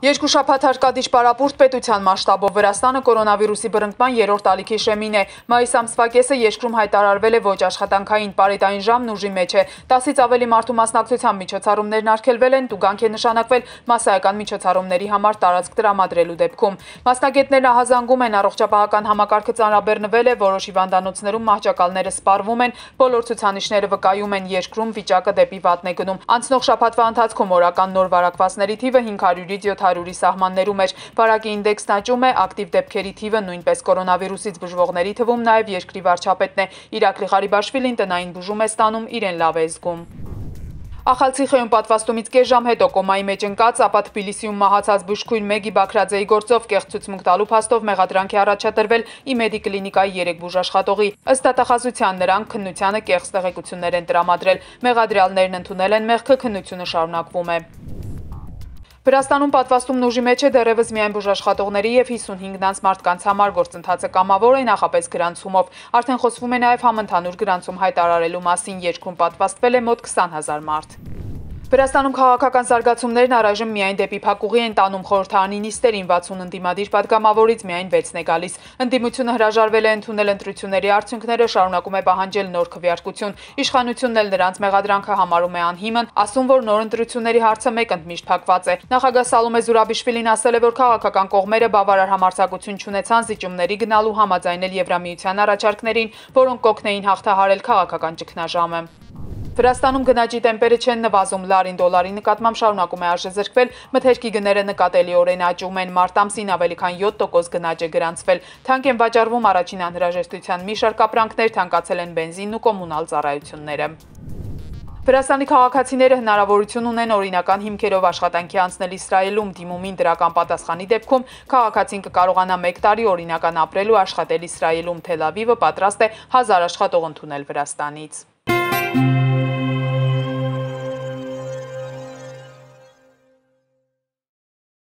Երկու շաբաթ հարկադիշ պարապուրտ պետության մասշտաբով Վրաստանը կորոնավիրուսի բռնկման երրորդ ալիքի շեմին է։ Մայիս ամսվա կեսը երկրում հայտարարվել է ոչ աշխատանքային պարետային ժամն ուժի մեջ է։ 10-ից ավելի մարդու մասնակցությամբ միջոցառումներն արգելվել են, տուգանք է նշանակվել մասսայական միջոցառումների համար տարածք տրամադրելու դեպքում։ Մասնագետներն ահազանգում են, առողջապահական համակարգը ծանրաբեռնվել է, որոշ հիվանդանոցներում մահճակալները սպառվում են, բոլոր ցուցանիշները վկայում են երկրում վիճակը դեպի վատն է գնում։ Անցնող շաբաթվա ընթացքում օրական նոր վարակվածների թիվը 500-ից 700-ի սահմաններում էր։ Վարակի ինդեքսն աճում է, ակտիվ դեպքերի թիվը նույնպես կորոնավիրուսից բուժվողների թվում նաև երկրի վարչապետն է։ Իրակլի Ղարիբաշվիլին տնային բուժում է ստանում, իրեն լավ է զգում։ Ախալցիխեում պատվաստումից կես ժամ հետո կոմայի մեջ ընկած, ապա Թբիլիսիում մահացած բուժքույր Մեգի Բաքրաձեի գործով կեղծ ցուցմունք տալու փաստով մեղադրանք է առաջադրվել ԻՄԵԴ-ի կլինիկայի 3 բուժաշխատողի։ Ըստ դատախազության նրանք քննությանը կեղծ տեղեկություններ են տրամադրել։ Մեղադրյալներն ընդունել են մեղքը, քննությունը շարունակվում է։ Վրաստանում պատվաստումն ուժի մեջ է դեռևս միայն բուժաշխատողների և 55 մարդկանց համար, գործընթացը կամավոր է նախապես գրանցումով։ Արդեն խոսվում է նաև համընդհանուր գրանցում հայտարարելու մասին, երկրում պատվաստվել է մոտ 20,000 մարդ։ Վրաստանում քաղաքական զարգացումներն առայժմ միայն դեպի փակուղի են տանում, խորհրդարանի նիստերին 60 ընդդիմադիր պատգամավորից միայն 6-ն է գալիս։ Ընդդիմությունը հրաժարվել է ընդունել ընտրությունների արդյունքները, շարունակում է պահանջել նոր քվեարկություն։ Իշխանությունն էլ նրանց մեղադրանքը համարում է անհիմն, ասում, որ նոր ընտրությունների հարցը մեկ ընդմիշտ փակված է։ Նախագահ Սալոմե Զուրաբիշվիլին ասել է, որ քաղաքական կողմերը բավարար համարձակություն չունեցան զիջումների գնալու համաձայնել Եվրամիության առաջարկներին, որոնք կօգնեին հաղթահարել քաղաքական ճգնաժամը։ Վրաստանում գնաճի տեմպերը չեն նվազում, լարին դոլարի նկատմամբ շարունակում է արժեզրկվել, մթերքի գները նկատելիորեն աճում են, մարտ ամսին ավելի քան 7% գնաճ է գրանցվել, թանկ են վաճառվում առաջին անհրաժեշտության մի շարք ապրանքներ, թանկացել են բենզինն ու կոմունալ ծառայությունները։ Վրաստանի քաղաքացիները հնարավորություն ունեն օրինական հիմքերով աշխատանքի անցնել Իսրայելում, դիմումին դրական պատասխանի դեպքում քաղաքացին կկարողանա 1 տարի օրինական ապրել ու աշխատել Իսրայելում, Թել Ավիվը պատրաստ է 1000 աշխատող ընդունել Վրաստանից։